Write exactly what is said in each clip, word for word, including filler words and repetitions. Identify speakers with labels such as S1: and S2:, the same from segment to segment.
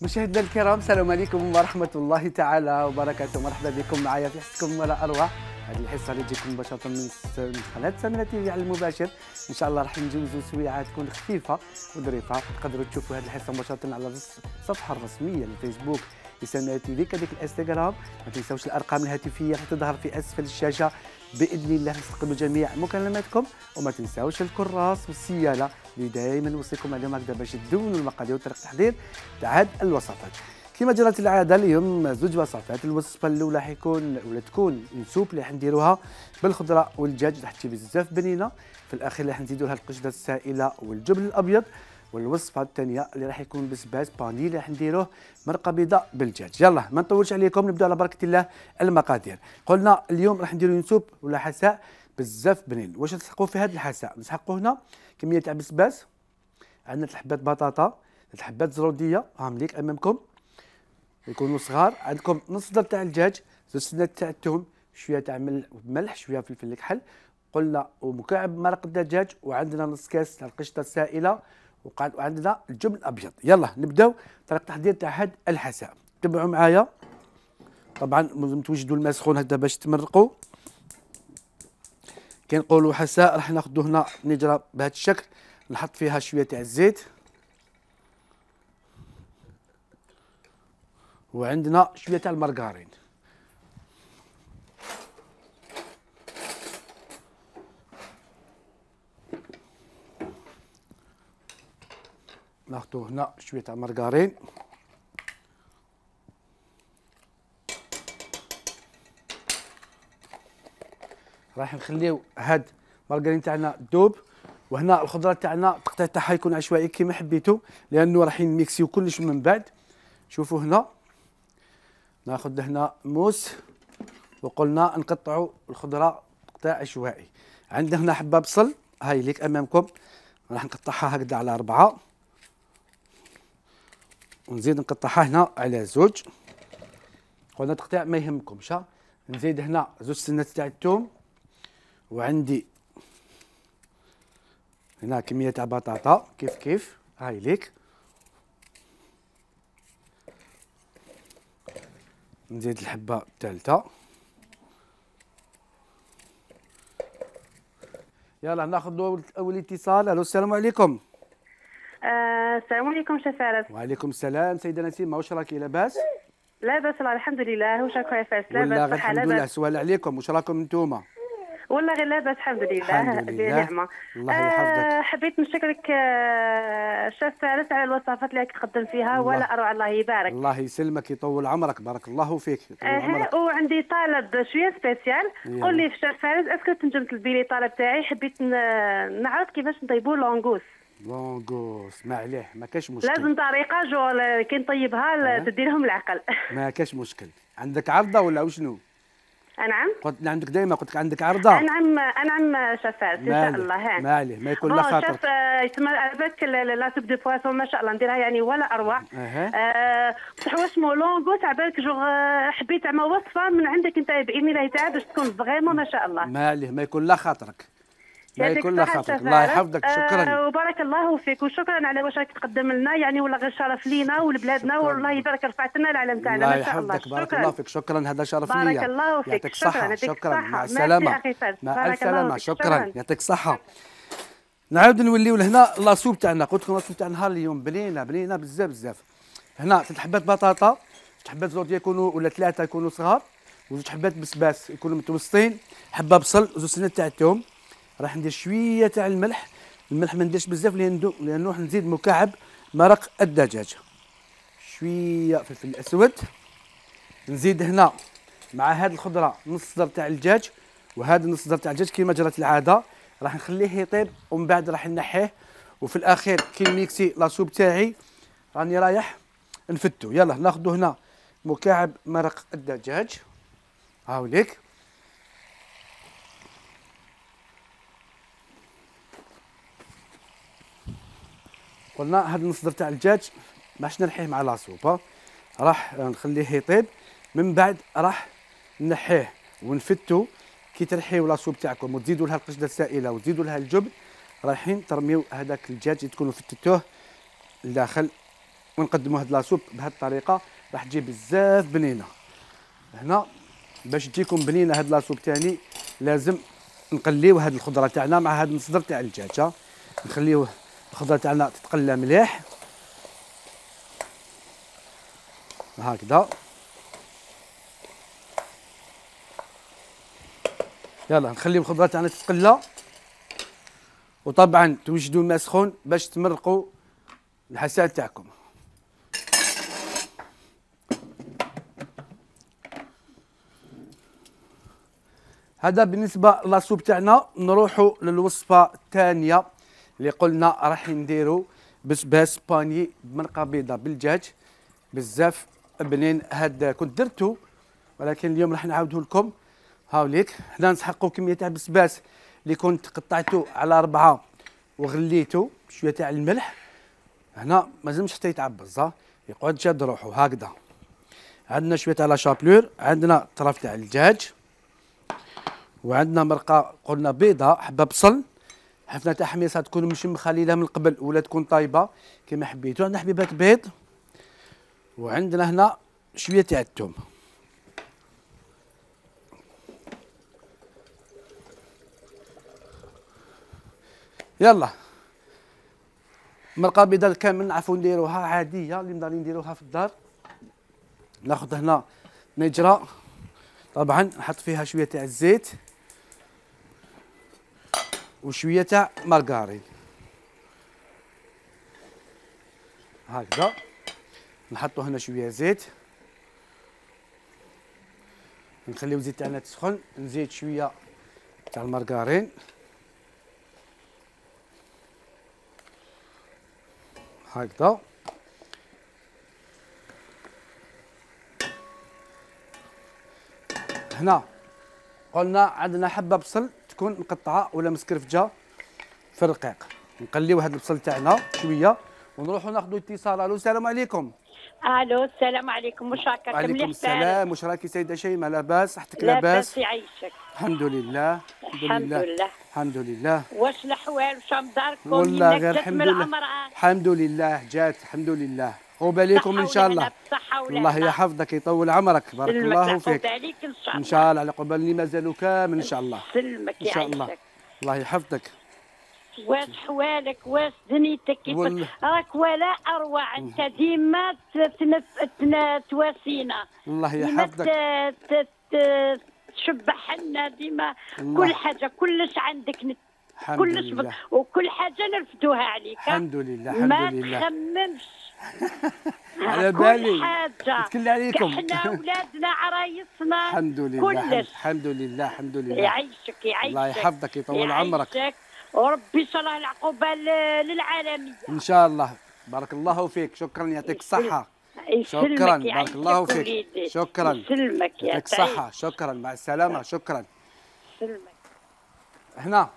S1: مشاهدينا الكرام، السلام عليكم ورحمة الله تعالى وبركاته. مرحبا بكم معايا في حصتكم ولا أروع. هذه الحصة اللي تجيكم مباشرة من قناة سميرة تيفي على المباشر. إن شاء الله راح نجوزوا سويعة تكون خفيفة وظريفة. تقدروا تشوفوا هذه الحصة مباشرة على الصفحة الرسمية للفيسبوك لسميرة تيفي، كذلك الانستغرام. ما تنساوش الأرقام الهاتفية راح تظهر في أسفل الشاشة بإذن الله. نستقبل جميع مكالماتكم، وما تنساوش الكراس والسيالة اللي دائما نوصيكم عليهم هكذا باش تدونوا المقادير وطريقة التحضير تاع هاد الوصفات. كما جرت العاده اليوم زوج وصفات. الوصفه الاولى حيكون ولا تكون السوب اللي حنديروها بالخضره والدجاج، راح تجي بزاف بنينه. في الاخير راح نزيدوا لها القشده السائله والجبن الابيض. والوصفه الثانيه اللي راح يكون بسباس باني اللي راح نديروه مرقه بيضاء بالدجاج. يلا ما نطولش عليكم، نبداو على بركه الله. المقادير قلنا اليوم راح نديروا سوب ولا حساء بزاف بنين. واش نسحقوا في هذا الحساء؟ نسحقوا هنا كميه تاع بسباس، عندنا ثلاث حبات بطاطا، ثلاث حبات زروديه هاهم ليك امامكم يكونوا صغار. عندكم نص صدر تاع الدجاج، زوج سنات تاع الثوم، شويه تاع ملح، شويه فلفل الكحل قلنا، ومكعب مرق الدجاج، وعندنا نص كاس تاع القشطه السائله، وعندنا الجبن الابيض. يلا نبداو طريقه التحضير تاع هذا الحساء. تبعوا معايا. طبعا لازم توجدوا الماء سخون هكذا باش تمرقوا. كي نقولوا حساء راح ناخذوا هنا نجره بهذا الشكل، نحط فيها شويه تاع الزيت، وعندنا شويه تاع المارغرين. ناخذ هنا شويه تاع المارغرين، راح نخليو هاد المارغرين تاعنا دوب. وهنا الخضره تاعنا التقطيع تاعها يكون عشوائي كيما حبيتو، لانه راح نميكسيو كلش من بعد. شوفوا هنا ناخذ هنا موس، وقلنا نقطعوا الخضره تقطيع عشوائي. عندنا هنا حبه بصل هاي ليك امامكم، راح نقطعها هكذا على اربعه، ونزيد نقطعها هنا على زوج. قلنا تقطيع ما يهمكمش. نزيد هنا زوج سنات تاع الثوم، وعندي هنا كميه تاع بطاطا كيف كيف هاي ليك. نزيد الحبه الثالثه. يلا ناخذ اول اتصال. الو السلام عليكم.
S2: آه، السلام عليكم شيف فارس.
S1: وعليكم السلام سيدة نسيم، واش راكي لاباس؟
S2: لاباس والله الحمد لله. واش راكم يا فارس؟
S1: لاباس والله غير
S2: صحه
S1: الحمد لله. سؤال عليكم، واش راكم نتوما؟
S2: والله غير لاباس الحمد لله.
S1: الحمد لله
S2: نعمه.
S1: الله يحفظك.
S2: آه حبيت نشكرك آه شيف فارس على الوصفات اللي تقدم فيها. ولا اروع، الله يبارك.
S1: الله يسلمك يطول عمرك، بارك الله فيك يطول
S2: آه
S1: عمرك.
S2: وعندي طلب شويه سبيسيال. قول لي في شيف فارس، اسكو تنجم تلبي لي طلب تاعي؟ حبيت نعرف كيفاش نطيبوا لونغوس.
S1: لونغوس ما عليه، ما كاش مشكل.
S2: لازم طريقه جو كي نطيبها تدي لهم العقل.
S1: ما كاش مشكل. عندك عرضه ولا وشنو؟
S2: نعم.
S1: قلت عندك دائما، قلت لك عندك عرضه.
S2: نعم نعم شيف فارس ان شاء الله.
S1: ما عليه، ما يكون لا خاطر.
S2: شيف يسمى عباك لا سوب دو بواسون ما شاء الله نديرها يعني ولا اروع. أه بصح واش مو لونغوس عبالك جو حبيت زعما وصفه من عندك انت باذن الله تعالى باش تكون فريمون ما شاء الله.
S1: ما عليه، ما يكون لا خاطرك. ما يكون لا خاطرك. الله يحفظك. شكرا.
S2: أه وبارك الله فيك، وشكرا على واش راك تقدم لنا يعني، والله غير شرف لينا ولبلادنا، والله يبارك رفعت لنا العلم تاعنا ما شاء الله.
S1: الله يحفظك. بارك الله فيك. شكرا، هذا شرف ليا.
S2: بارك الله فيك.
S1: يعطيك الصحة.
S2: شكرا.
S1: شكرا. مع السلامة. مع السلامة. شكرا. يعطيك الصحة.
S2: شكرا.
S1: نعاود نوليو لهنا لاصوب تاعنا. قلت لكم لاصوب تاع نهار اليوم بنينه بنينه بزاف بزاف. هنا ثلاث حبات بطاطا، ثلاث حبات زروديه يكونوا ولا ثلاثه يكونوا صغار، وزوج حبات بسباس يكونوا متوسطين، حبه بصل، وزوج سنات تاع الثوم. راح ندير شويه تاع الملح، الملح ما نديرش بزاف لانه لانه راح نزيد مكعب مرق الدجاج. شويه فلفل اسود. نزيد هنا مع هذه الخضره نص صدر تاع الدجاج، وهذا نص صدر تاع الدجاج كما جرت العاده. راح نخليه يطيب ومن بعد راح نحيه، وفي الاخير كي نميكسي لاصوب تاعي راني رايح نفتو. يلا ناخذ هنا مكعب مرق الدجاج هاوليك. قلنا هذا النص تاع الدجاج باش نرحيه مع لاصوب، راح نخليه يطيب، من بعد راح نحيه ونفتو. كي ترحيو لاصوب تاعكم وتزيدوا لها القشده السائله وتزيدوا لها الجبن، رايحين ترميو هذاك الدجاج اللي تكونوا فتتوه لداخل ونقدموا هاد لاصوب بهاد الطريقه، راح تجي بزاف بنينه. هنا باش تجيكم بنينه هاد لاصوب تاني لازم نقليو هاد الخضره تاعنا مع هاد المصدر تاع الدجاج. نخليوه الخضره تاعنا تتقلى مليح هكذا. يلا نخليو الخضره تاعنا تتقلى، وطبعا توجدوا الماء سخون باش تمرقوا الحساء تاعكم. هذا بالنسبه لاصوب تاعنا. نروحوا للوصفه الثانيه اللي قلنا راح نديروا بسباس باني بمرقه بيضاء بالدجاج، بزاف بنين. هذا كنت درتو ولكن اليوم راح نعاوده لكم. هاوليك هنا نسحقوا كميه تاع البسباس اللي كنت قطعته على أربعة وغليته بشويه تاع الملح. هنا ما لازمش حتى يتعبز، يقعد شاد روحه هكذا. عندنا شويه تاع لا شابلور، عندنا طرف تاع الدجاج، وعندنا مرقه قلنا بيضاء، حبه بصل، حفنه تاع حميصه تكون مشمخه ليله من قبل ولا تكون طايبه كما حبيتو. عندنا حبيبات بيض، وعندنا هنا شويه تاع الثوم. يلا مرقه بيضاء كامل نعرفوا نديروها عاديه اللي نقدر نديروها في الدار. ناخذ هنا نجره، طبعا نحط فيها شويه تاع الزيت وشويه تاع مارغرين هكذا. نحطوا هنا شويه زيت، نخليو الزيت تاعنا تسخن، نزيد شويه تاع المارغرين هكذا. هنا قلنا عندنا حبه بصل تكون مقطعه ولا مسكرفجه في الرقيق. نقليو هذا البصل تاعنا شويه ونروحوا ناخذوا اتصال. الو السلام عليكم.
S3: الو السلام عليكم، واش راك؟
S1: وعليكم السلام، واش راكي سيده شيماء؟ لاباس؟ صحتك
S3: لاباس؟
S1: لاباس؟
S3: يعيشك.
S1: الحمد لله الحمد لله الحمد لله.
S3: واش الاحوال؟ واش داركم؟
S1: والله غير الحمد لله الحمد لله جات الحمد لله. قباليكم ان شاء الله. الله يحفظك يطول عمرك، بارك الله فيك. ان شاء الله على قبالني مازالوا كامل ان شاء الله.
S3: سلمك
S1: ان شاء الله. الله يحفظك.
S3: واش حوالك؟ واش دنيتك كيف راك؟ ولا اروع انت ديما تواسينا.
S1: الله يحفظك.
S3: تشبح لنا ديما كل حاجه، كلش عندك نت... كلش ب... وكل حاجه نرفدوها عليك.
S1: الحمد لله الحمد لله.
S3: ما تخممش
S1: على بالي
S3: كل حاجه
S1: نتكل عليكم.
S3: احنا اولادنا عرايسنا
S1: الحمد لله
S3: كلش.
S1: الحمد لله الحمد لله.
S3: يعيشك يعيشك
S1: الله يحفظك يطول عمرك،
S3: وربي ان شاء الله العقوبه للعالميه
S1: ان شاء الله. بارك الله فيك، شكرا يعطيك الصحه. شكرا بارك الله فيك، شكرا
S3: يسلمك
S1: يعطيك الصحه. شكرا مع السلامه. شكرا.
S3: يسلمك.
S1: هنا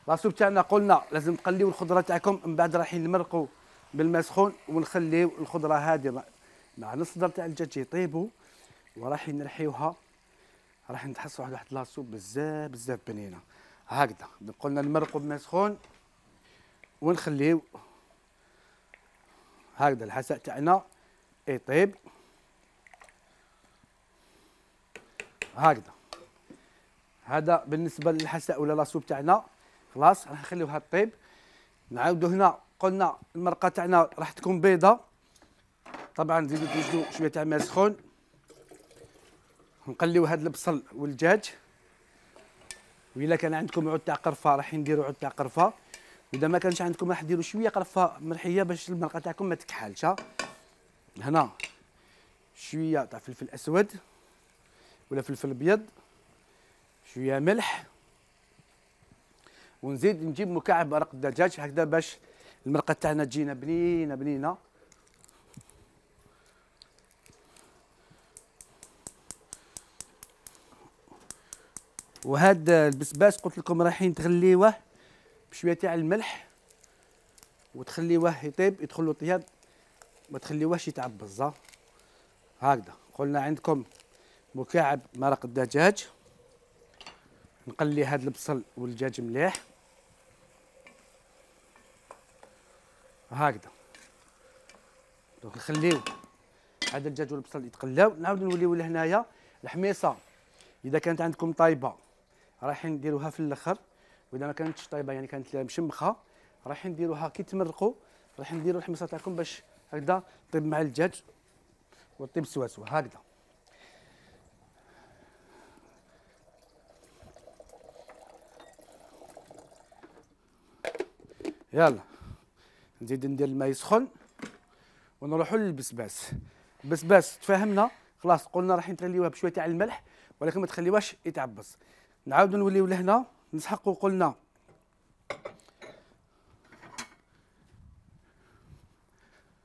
S1: لاصوب تاعنا قلنا لازم تقليو الخضره تاعكم، من بعد راح نمرقوا بالماء سخون ونخليو الخضره هذه مع الصدر تاع الدجاج يطيبوا، وراح نرحيوها. راح نتحصلوا على واحد لاصوب بزاف بزاف بنينه هكذا. قلنا نمرقوا بالماء سخون ونخليو هكذا الحساء تاعنا يطيب هكذا. هذا بالنسبه للحساء ولا لاصوب تاعنا. خلاص راح نخليوها تطيب. نعاودوا هنا قلنا المرقه تاعنا راح تكون بيضه، طبعا نزيدوا توجدوا شويه تاع ماء سخون. نقليو هذا البصل والدجاج، وإلا كان عندكم عود تاع قرفه راح نديروا عود تاع قرفه، واذا ما كانش عندكم راح ديروا شويه قرفه مرحيه باش المرقه تاعكم ما تكحلش. هنا شويه تاع فلفل اسود ولا فلفل ابيض، شويه ملح، ونزيد نجيب مكعب مرق الدجاج هكذا باش المرقه تاعنا تجينا بنينه بنينه. وهذا البسباس قلت لكم رايحين تغليوه بشويه تاع الملح وتخليوه يطيب، يدخل له طياب، ما تخليوهش يتعبز هكذا. قلنا عندكم مكعب مرق الدجاج، نقلي هذا البصل والدجاج مليح هكذا. دونك نخليو هذا الدجاج والبصل يتقلاو، نعاودو نوليو لهنايا الحميصه اذا كانت عندكم طايبه رايحين نديروها في الاخر، واذا ما كانتش طايبه يعني كانت مشمخه رايحين نديروها كي تمرقوا رايحين نديروا الحميصه تاعكم باش هكذا طيب مع الدجاج وطيب سوا سوا هكذا. يلا نزيد ندير الماء يسخن ونروحوا للبسباس. البسباس تفاهمنا خلاص، قلنا راح نتغليوها بشويه تاع الملح ولكن ما تخليوهاش يتعبص. نعاودوا نوليو لهنا نسحقوا، قلنا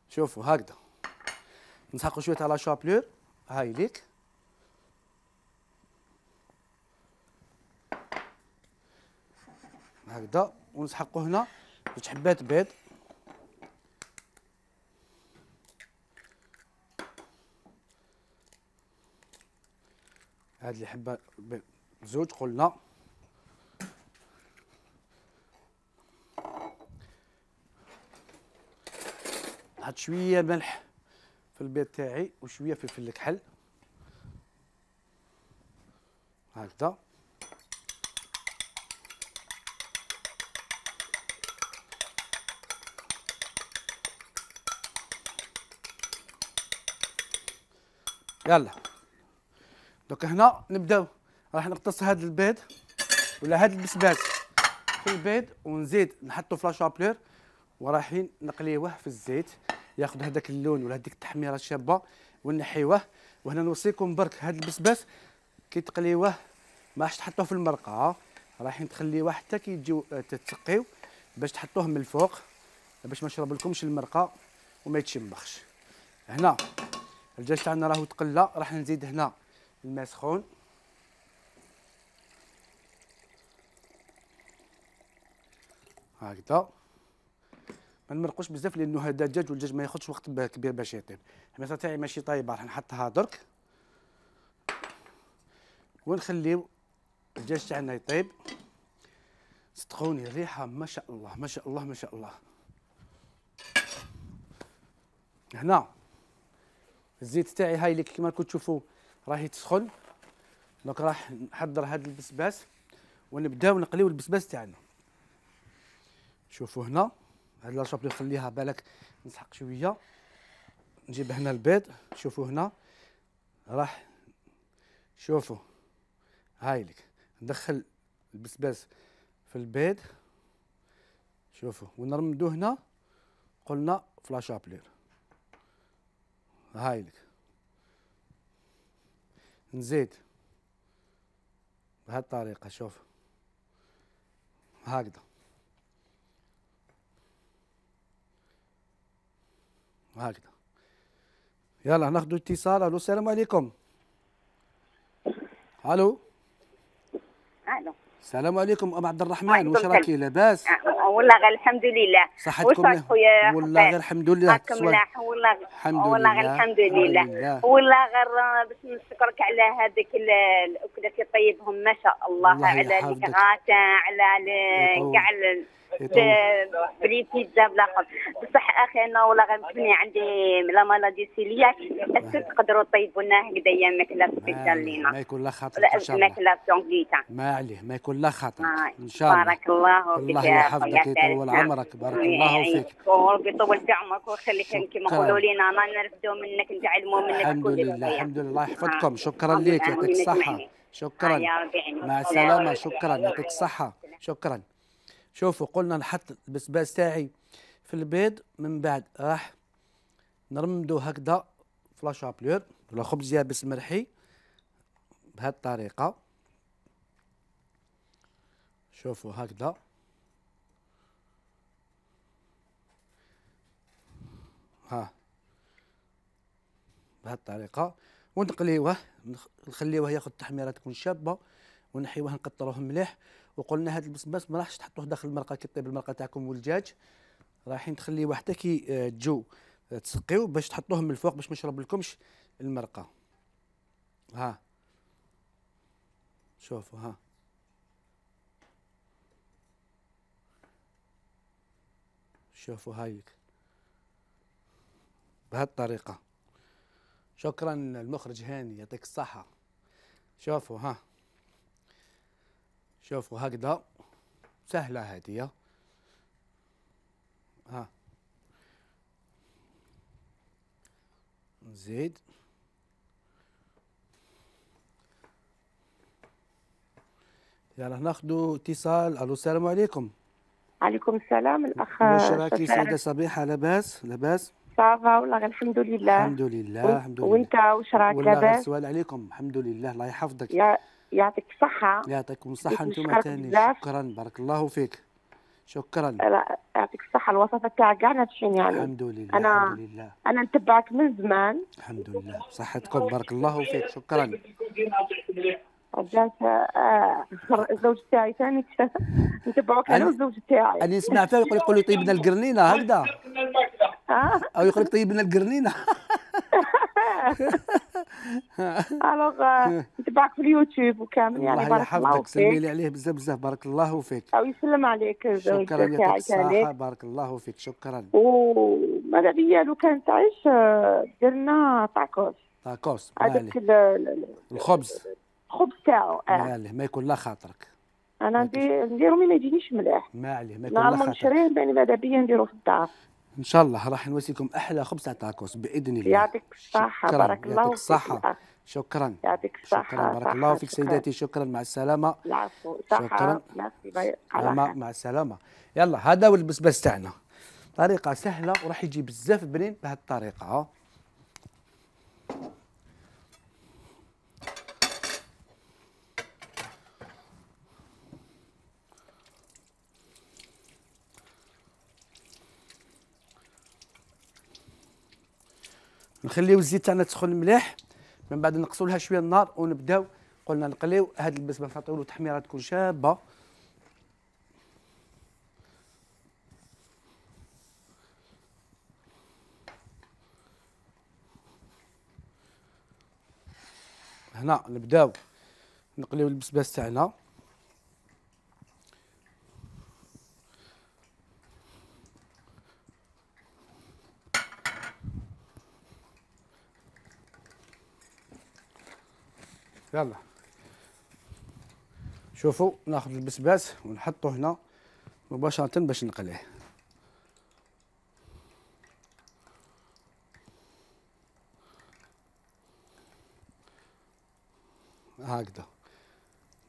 S1: شوفوا هكذا نسحقوا شويه على شابلور هاي ليك، هكذا ونسحقوا هنا جوج حبات بيض، هاد اللي حبه زوج قلنا، نحط شويه ملح في البيض تاعي وشويه فلفل الكحل هكذا. يلا دوك هنا نبداو راح نقتص هذا البيض ولا هذا البسباس في البيض ونزيد نحطو في لاشابلور ورايحين نقليوه في الزيت ياخذ هذاك اللون ولا هذيك التحميره الشابه ونحيوه. وهنا نوصيكم برك هذا البسباس كي تقليوه ما راحش تحطوه في المرقه، رايحين تخليوه حتى كي تجيو تتسقيو باش تحطوه من الفوق باش ما يشربلكمش المرقه وما يتشمخش. هنا الدجاج تاعنا راهو تقلى، راح نزيد هنا الماء سخون هكذا، ما نمرقوش بزاف لانه هذا الدجاج والدجاج ما ياخذش وقت كبير باش يطيب. الحميصه تاعي ماشي طايبه راح نحطها درك ونخليو الدجاج تاعنا يطيب. صدقوني الريحه ما شاء الله ما شاء الله ما شاء الله. هنا الزيت تاعي هاي اللي كيما راكم تشوفوا راهي تسخن، دونك راح نحضر هذا البسباس ونبداو نقليو البسباس تاعنا. شوفوا هنا هاد لاشابلي نخليها بالك نسحق شويه، نجيب هنا البيض. شوفوا هنا راح شوفوا هاي لك ندخل البسباس في البيض شوفوا ونرمدو هنا قلنا في لاشابلير هاي لك. نزيد بهذه الطريقه شوف هكذا هكذا. يلا ناخذ اتصال. الو السلام عليكم. الو
S4: الو
S1: السلام عليكم ام عبد الرحمن، واش راكي لاباس؟
S4: والله غير الحمد لله.
S1: صحتكم
S4: خويا؟
S1: والله غير الحمد لله.
S4: راكم ملاح والله.
S1: الحمد
S4: والله غير
S1: لله
S4: الحمد لله. والله غير باش نشكرك على هذيك الاكلات اللي طيبهم ما شاء الله، على الكغاتا على كاع بلي بيتزا بلا خبز. بصح اخي انا والله غير متبني عندي لا مالادي سيلياك، اسك تقدروا طيبوا لنا هكذايا ماكله سبيسيال لينا.
S1: ما يكون لا خاطر ان شاء الله.
S4: ماكله سونغيتا
S1: ما عليه ما يكون لا خاطر ان شاء الله.
S4: بارك الله فيك.
S1: الله يحفظك ويطول عمرك. بارك الله فيك
S4: ويطول في عمرك ويخليك كما يقولوا لينا انا نرفدوا منك نتعلموا منك.
S1: الحمد لله الحمد لله. الله يحفظكم. شكرا لك يعطيك الصحه. شكرا مع السلامه. شكرا يعطيك الصحه. شكرا. شوفوا قلنا نحط البسباس تاعي في البيض، من بعد راح نرمدو هكذا في لاشابلور ولا خبز يابس مرحي بهذه الطريقه. شوفوا هكذا ها بهذه الطريقه ونقليوه نخليوه ياخذ تحميره تكون شابه ونحيوه نقطروه مليح. وقلنا هذا البسباس ما راحش تحطوه داخل المرقه كي طيب المرقه تاعكم والدجاج، رايحين تخليوه حتى كي تجو تسقيو باش تحطوه من الفوق باش ما يشربلكمش المرقه. ها شوفوا ها شوفوا هايك بهذه الطريقه. شكرا المخرج هاني يعطيك الصحه. شوفوا ها، شوفوا هكذا سهله هذه. ها نزيد يلا ناخذ اتصال. الو السلام عليكم.
S5: عليكم السلام الاخ.
S1: واش راكي سيده صبيحه؟ لاباس لاباس؟
S5: صافا والله غير الحمد لله.
S1: الحمد لله الحمد لله.
S5: وانت واش راك لاباس؟
S1: والله السؤال عليكم. الحمد لله الله يحفظك.
S5: يا يعطيك الصحه.
S1: يعطيكم الصحه انتم ثاني. شكرا بارك الله فيك. شكرا.
S5: لا يعطيك الصحه. الوصفه تاعك كاع ناجحين يعني.
S1: الحمد لله.
S5: انا
S1: الحمد لله.
S5: انا نتبعك من زمان.
S1: الحمد لله صحتكم بارك الله فيك. شكرا.
S5: رجعت آه الزوج تاعي ثاني نتبعوك انا والزوج تاعي.
S1: انا نسمع فيه يقول يقول لي طيب لنا القرنينه هكذا. او يقول لك طيب لنا القرنينه.
S5: الوغ نتبعك في اليوتيوب وكامل يعني.
S1: بارك الله فيك. سلمي لي عليه بزاف بزاف بارك الله فيك.
S5: او يسلم عليك الزوج
S1: تاعي. شكرا يعطيك الصحه بارك الله فيك. شكرا.
S5: وماذا بيا لو كان تعيش درنا طاكوس.
S1: طاكوس
S5: هذاك
S1: الخبز
S5: الخبز تاعو.
S1: اه ما عليه ما يكون لا خاطرك.
S5: انا نديرو مي ما يجينيش مليح.
S1: ما عليه ما يكون لا خاطرك.
S5: نشريه باني ماذا بيا نديرو في الدار.
S1: ان شاء الله راح نواسيكم احلى خبز تاع طاكوس باذن الله.
S5: يعطيك الصحه بارك الله فيك.
S1: يعطيك الصحه. شكرا.
S5: يعطيك الصحه.
S1: شكرا بارك الله فيك سيداتي. شكرا مع السلامه.
S5: العفو.
S1: شكرا.
S5: مع,
S1: مع السلامه. يلا هذا هو البسباس تاعنا. طريقه سهله وراح يجي بزاف بنين بهذه الطريقه. نخليو الزيت تاعنا تسخن مليح، من بعد نقصوا لها شويه النار ونبداو قلنا نقليو هذا البسباس نعطيو له تحميره تكون شابه. هنا نبداو نقليو البسباس تاعنا. يلا شوفوا ناخذ البسباس ونحطه هنا مباشرة باش نقليه. هكذا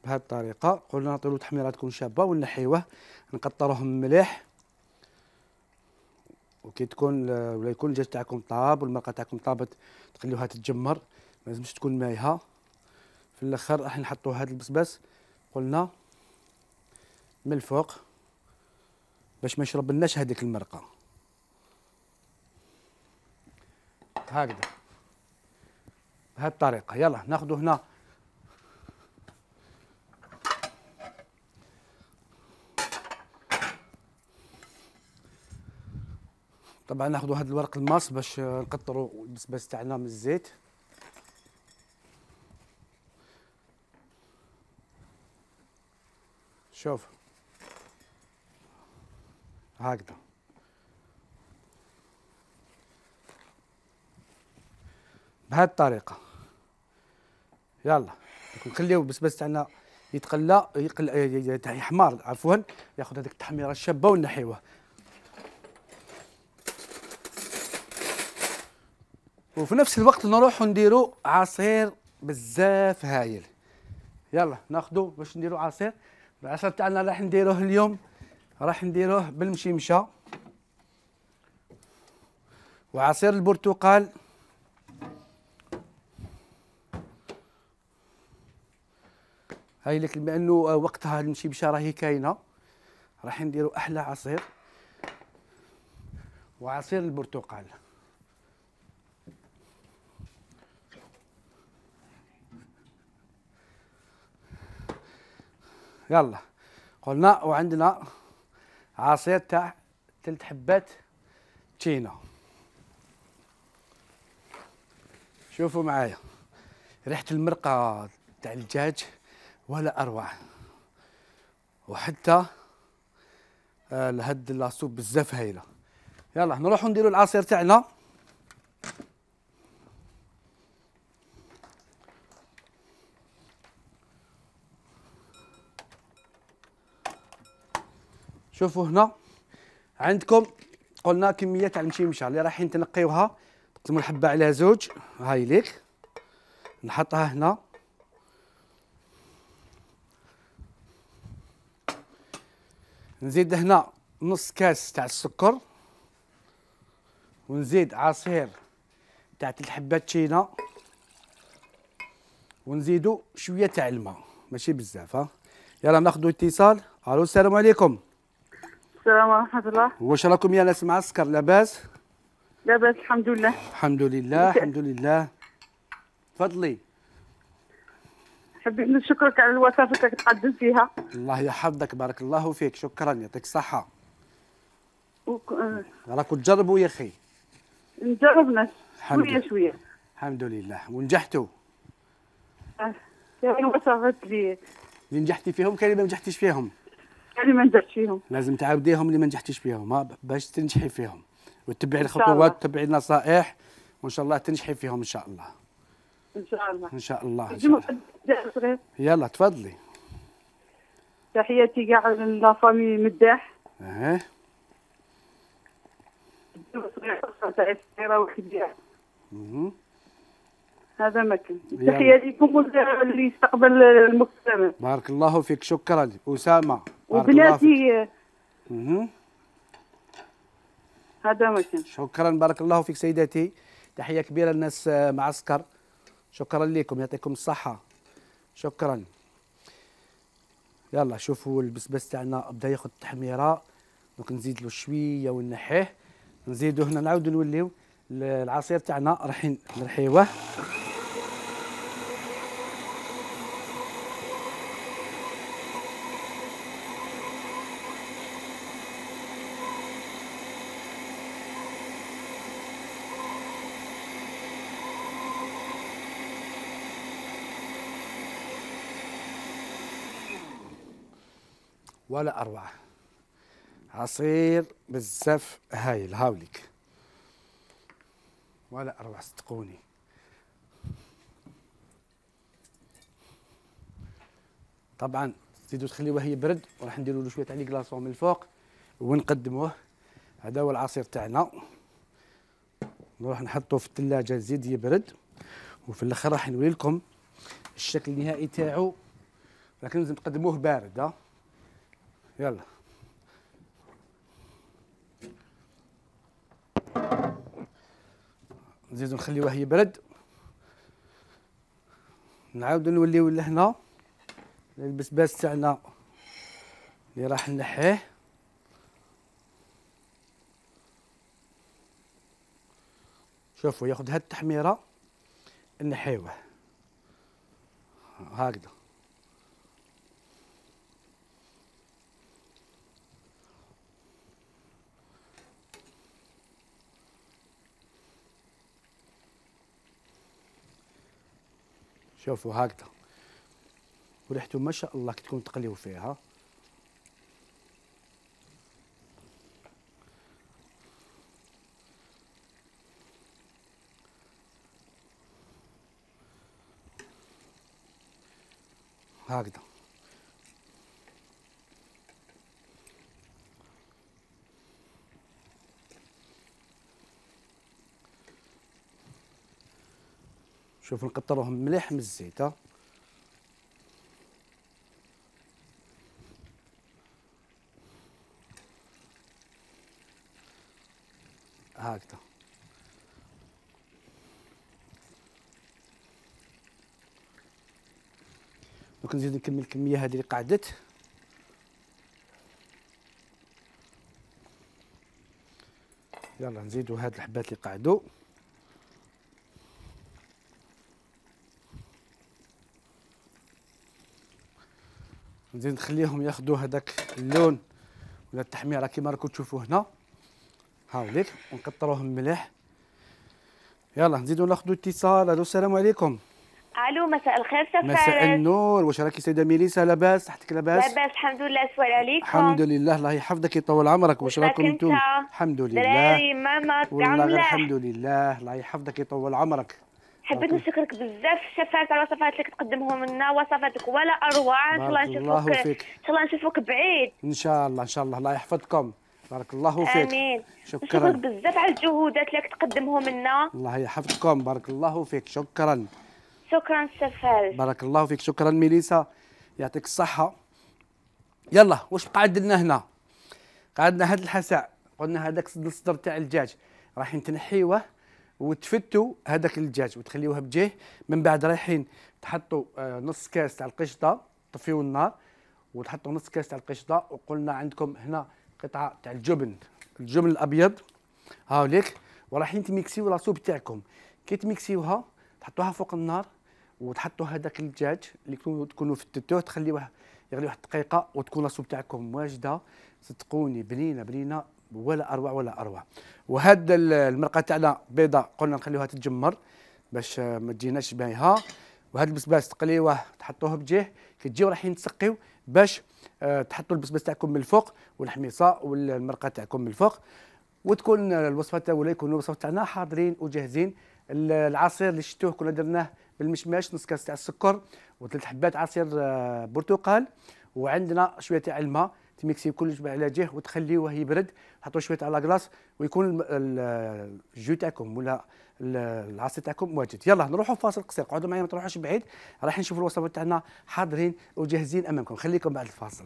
S1: بهذه الطريقة. قلنا نعطيو تحميرة تكون شابة ونحيوه نقطروه مليح، وكي تكون ولا يكون الدجاج تاعكم طاب والمرقة تاعكم طابت تخليوها تتجمر، ما لازمش تكون مايحة. في الاخر راح نحطوا هذا البسباس قلنا من الفوق باش ما يشرب لناش هذيك المرقه. هكذا بهذه الطريقه. يلا ناخذوا هنا طبعا ناخذوا هذا الورق الماس باش نقطروا البسباس تاعنا من الزيت. شوف هكذا بهذه الطريقة. يلا نخليو البسباس تاعنا يتقلى يقل يحمر عفوا، ياخذ هذيك التحميرة الشابة ونحيوه. وفي نفس الوقت نروحو نديرو عصير بزاف هايل. يلا ناخذو باش نديرو عصير. العصير تاعنا راح نديروه اليوم راح نديروه بالمشيمشه وعصير البرتقال هاي لك، بما انه وقتها المشيمشه راهي كاينه راح نديرو احلى عصير وعصير البرتقال. يلا قلنا وعندنا عصير تاع ثلاث حبات تشينا. شوفوا معايا ريحة المرقة تاع الدجاج ولا أروع، وحتى آه لهاد لاصوب بزاف هايلة. يلا نروحو نديرو العصير تاعنا. شوفوا هنا عندكم قلنا كميه تاع المشمشه اللي رايحين تنقيوها، تقسموا الحبه على زوج، هاي ليك نحطها هنا. نزيد هنا نص كاس تاع السكر، ونزيد عصير تاع الحبات تشينا، ونزيدو شويه تاع الماء ماشي بزاف. ها يلا ناخذوا اتصال. الو السلام عليكم.
S5: السلام ورحمة الله.
S1: واش راكم يا ناس معسكر لاباس؟
S5: لاباس الحمد لله.
S1: الحمد لله الحمد لله. تفضلي.
S5: حبيت نشكرك على الوصفات اللي تقدم فيها.
S1: الله يحفظك بارك الله فيك، شكرا يعطيك الصحة.
S5: وك...
S1: راكم تجربوا يا اخي.
S5: نجربنا شوية شوية.
S1: الحمد لله ونجحتوا.
S5: كاين وصفات اللي
S1: اللي نجحتي فيهم كاين اللي ما نجحتيش فيهم.
S5: كاين اللي ما نجحتش فيهم.
S1: لازم تعاوديهم اللي ما نجحتيش فيهم ها باش تنجحي فيهم، وتتبعي الخطوات وتتبعي النصائح، وان شاء الله تنجحي فيهم ان شاء الله.
S5: ان شاء الله.
S1: ان شاء الله. إن شاء الله. يلا تفضلي.
S5: تحياتي كاع لافامي مداح.
S1: اها.
S5: صغيرة وكبيرة.
S1: اها.
S5: هذا ما كان. تحية لكم اللي يستقبل المكتمل.
S1: بارك الله فيك، شكرا أسامة.
S5: وبناتي.
S1: اها.
S5: هذا ما كان.
S1: شكرا بارك الله فيك سيداتي، تحية كبيرة للناس معسكر، شكرا لكم يعطيكم الصحة، شكرا. يلا شوفوا البسباس تاعنا بدا ياخذ تحميرة، دونك نزيد له شوية ونحيه، نزيدو هنا نعاودو نوليو العصير تاعنا رايحين نرحيوه. ولا أروع، عصير بزاف هايل هاوليك، ولا أروع صدقوني. طبعا تزيدوا تخليوه يبرد، وراح نديروا له شويه تاع لي كلاصون من الفوق ونقدموه. هذا هو العصير تاعنا، نروح نحطوه في الثلاجه يزيد يبرد، وفي الاخر راح نوري لكم الشكل النهائي تاعو، لكن لازم تقدموه بارد. ها يلا نزيدو نخليوه يبرد، نعاودو نوليو لهنا البسباس تاعنا اللي راح نحيه. شوفوا ياخذ هاد التحميره نحيوه هكذا. شوفوا هكذا، وريحته ما شاء الله كي تكون تقليو فيها. هكذا شوفوا نقطروهم مليح من الزيت. ها هكذا دونك نزيد نكمل الكميه هذه اللي قعدت. يلا نزيدوا هاد الحبات اللي قعدوا. نزيد نخليهم ياخذوا هذاك اللون ولا التحميره كيما راكم تشوفوا هنا هاوليك، ونكثروهم مليح. يلا نزيدوا ناخذوا اتصال. الو السلام عليكم.
S6: الو مساء الخير سفارة.
S1: مساء النور، واش راكي سيده ميليسا؟ لاباس؟ صحتك لاباس؟
S6: لاباس الحمد لله، سوال عليكم.
S1: الحمد لله، الله يحفظك يطول عمرك. واش راكم انتم؟ الحمد لله.
S6: دراري ماما
S1: والله غير الحمد لله، الله يحفظك يطول عمرك.
S6: حبيت نشكرك بزاف الشفاعات على الوصفات اللي كتقدمهم لنا، وصفاتك ولا اروع. ان شاء الله نشوفوك ان شاء الله نشوفوك بعيد
S1: ان شاء الله ان شاء الله. الله يحفظكم. بارك الله فيك.
S6: امين.
S1: شكرا.
S6: نشكرك بزاف على الجهودات اللي كتقدمهم لنا.
S1: الله يحفظكم. بارك الله فيك. شكرا.
S6: شكرا شفال.
S1: بارك الله فيك. شكرا ميليسا، يعطيك الصحة. يلا واش بقى عندنا هنا؟ قعدنا هذا الحساء، قلنا هذاك الصدر تاع الدجاج رايحين تنحيوه وتفتوا هذاك الدجاج وتخليوه بجيه. من بعد رايحين تحطوا نص كاس تاع القشطه، طفيوا النار وتحطوا نص كاس تاع القشطه. وقلنا عندكم هنا قطعه تاع الجبن، الجبن الابيض هاوليك، ورايحين تميكسيو لاصوب تاعكم. كي تميكسيوها تحطوها فوق النار وتحطوا هذاك الدجاج اللي تكونوا فتتوه، تخليوه يغلي واحد الدقيقه وتكون لاصوب تاعكم واجده. صدقوني بنينه بنينه ولا اروع ولا اروع. وهاد المرقه تاعنا بيضاء قلنا نخليوها تتجمر باش ما تجيناش بايهه. وهاد البسباس تقليوه تحطوه بجيه، كي تجيو رايحين تسقيو باش أه تحطوا البسباس تاعكم من الفوق والحميصه والمرقه تاعكم من الفوق. وتكون الوصفه تاعنا يكونوا الوصفه تاعنا حاضرين وجاهزين. العصير اللي شفتوه كنا درناه بالمشماش، نص كاس تاع السكر وثلاث حبات عصير أه برتقال، وعندنا شويه تاع الماء. تميكسي كلش على جهه وتخليوه يبرد، حطوا شويه على كلاص ويكون الجو تاعكم ولا العصير تاعكم واجد. يلا نروحوا فاصل قصير، قعدوا معايا ما تروحوش بعيد، راح نشوفوا الوصفات تاعنا حاضرين وجاهزين امامكم. خليكم بعد الفاصل.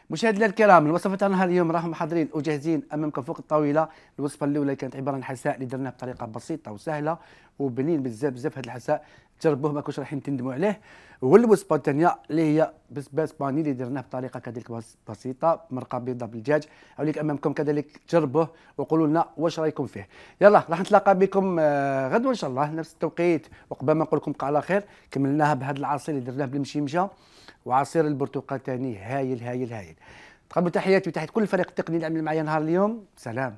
S1: مشاهدينا الكرام، الوصفه تاعنا اليوم راهم حاضرين وجاهزين امامكم فوق الطاوله. الوصفه الاولى كانت عباره عن حساء اللي درناه بطريقه بسيطه وسهله وبنين بزاف بزاف. هذا الحساء جربوه ما كنتش رايحين تندموا عليه. والوصفه الثانيه اللي هي بسباس باني اللي درناه بطريقه كذلك بسيطه، مرقه بيضاء بالدجاج. اوليك امامكم كذلك، جربوه وقولوا لنا واش رايكم فيه. يلا راح نتلاقى بكم غدوه ان شاء الله نفس التوقيت، وقبل ما نقول لكم بقى على خير. كملناها بهذا العصير اللي درناه بالمشيمشه وعصير البرتقال ثاني هايل هايل هايل. تقبلوا تحياتي وتحيات كل الفريق التقني اللي عمل معايا نهار اليوم. سلام.